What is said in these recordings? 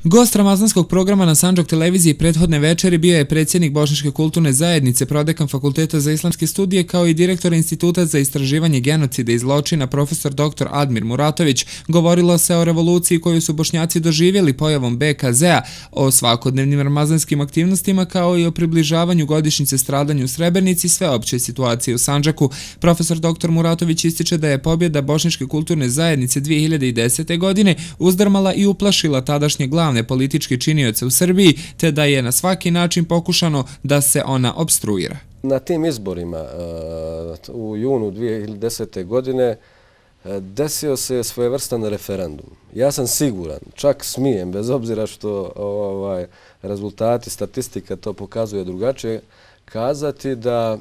Gost ramazanskog programa na Sandžak televiziji prethodne večeri bio je predsjednik Bošnjačke kulturne zajednice, prodekan Fakulteta za islamske studije, kao i direktor Instituta za istraživanje genocida i zločina profesor dr. Admir Muratović. Govorilo se o revoluciji koju su Bošnjaci doživjeli pojavom BKZ-a, o svakodnevnim ramazanskim aktivnostima, kao i o približavanju godišnjice stradanju u Srebrenici, sveopće situacije u Sandžaku. Profesor dr. Muratović ističe da je pobjeda Bošnjačke kulturne zajednice 2010. godine uzdrmala i uplašila tadašnje glavne političke činioce u Srbiji, te da je na svaki način pokušano da se ona opstruira. Na tim izborima u junu 2010. godine desio se svojevrstan referendum. Ja sam siguran, čak smijem, bez obzira što rezultati, statistika to pokazuje drugačije, kazati da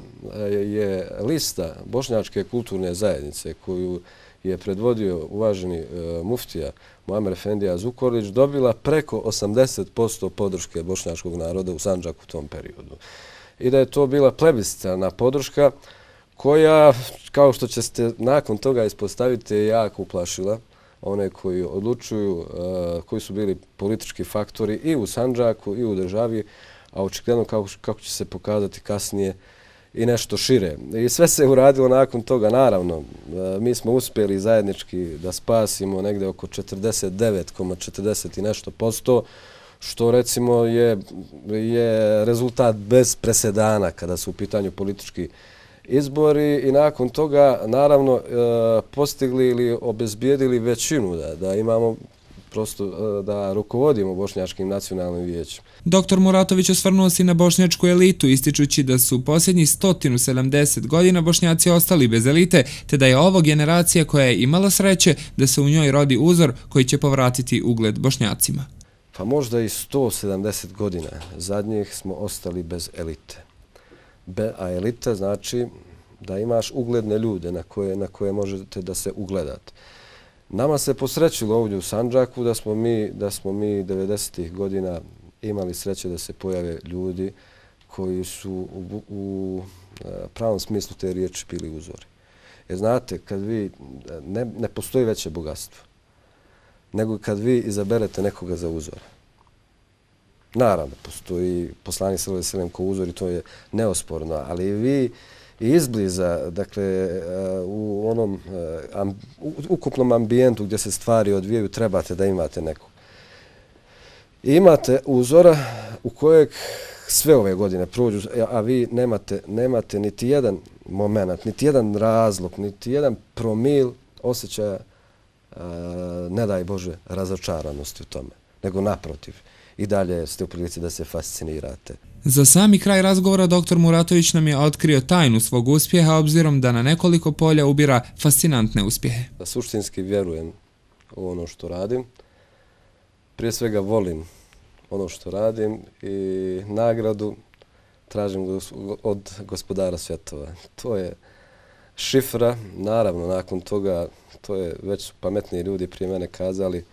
je lista Bošnjačke kulturne zajednice koju je predvodio uvaženi muftija Muamer Efendija Zukorlić dobila preko 80% podrške bošnjačkog naroda u Sandžaku u tom periodu. I da je to bila plebiscitarna podrška koja, kao što ćete nakon toga ispostaviti, je jako uplašila one koji odlučuju, koji su bili politički faktori i u Sandžaku i u državi, a očigledno kako će se pokazati kasnije i nešto šire. I sve se uradilo nakon toga. Naravno, mi smo uspjeli zajednički da spasimo negde oko 49,40 i nešto posto, što recimo je rezultat bez presedana kada su u pitanju politički izbori, i nakon toga naravno postigli ili obezbijedili većinu da imamo prosto da rukovodimo Bošnjačkim nacionalnim vijećem. Dr. Muratović osvrnuo se na bošnjačku elitu, ističući da su posljednjih 170 godina Bošnjaci ostali bez elite, te da je ovo generacija koja je imala sreće da se u njoj rodi uzor koji će povratiti ugled Bošnjacima. Pa možda i 170 godina zadnjih smo ostali bez elite. A elita znači da imaš ugledne ljude na koje možete da se ugledate. Nama se posrećilo ovdje u Sandžaku da smo mi 90. godina imali sreće da se pojave ljudi koji su u pravom smislu te riječi bili uzori. Jer znate, kad vi, ne postoji veće bogatstvo nego kad vi izaberete nekoga za uzor. Naravno, postoji poslanik sallallahu alejhi ve sellem kao uzor i to je neosporno, ali vi izbliza, dakle, u onom ukupnom ambijentu gdje se stvari odvijaju, trebate da imate nekog. I imate uzora u kojeg sve ove godine prođu, a vi nemate niti jedan moment, niti jedan razlog, niti jedan promil osjećaja, ne daj Bože, razočaranosti u tome, nego naprotiv. I dalje ste u prilici da se fascinirate. Za sami kraj razgovora dr. Muratović nam je otkrio tajnu svog uspjeha, obzirom da na nekoliko polja ubira fascinantne uspjehe. Suštinski vjerujem u ono što radim. Prije svega volim ono što radim i nagradu tražim od Gospodara svjetova. To je šifra. Naravno, nakon toga, to je već su pametniji ljudi prije mene kazali,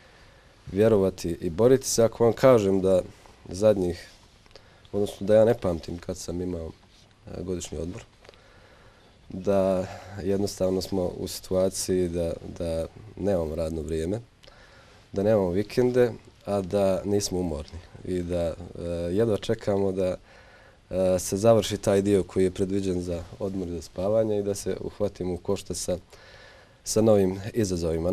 vjerovati i boriti se. Ako vam kažem da zadnjih, odnosno da ja ne pamtim kad sam imao godišnji odmor, da jednostavno smo u situaciji da nemamo radno vrijeme, da nemamo vikende, a da nismo umorni i da jedva čekamo da se završi taj dio koji je predviđen za odmor i za spavanje i da se uhvatimo u koštac sa novim izazovima.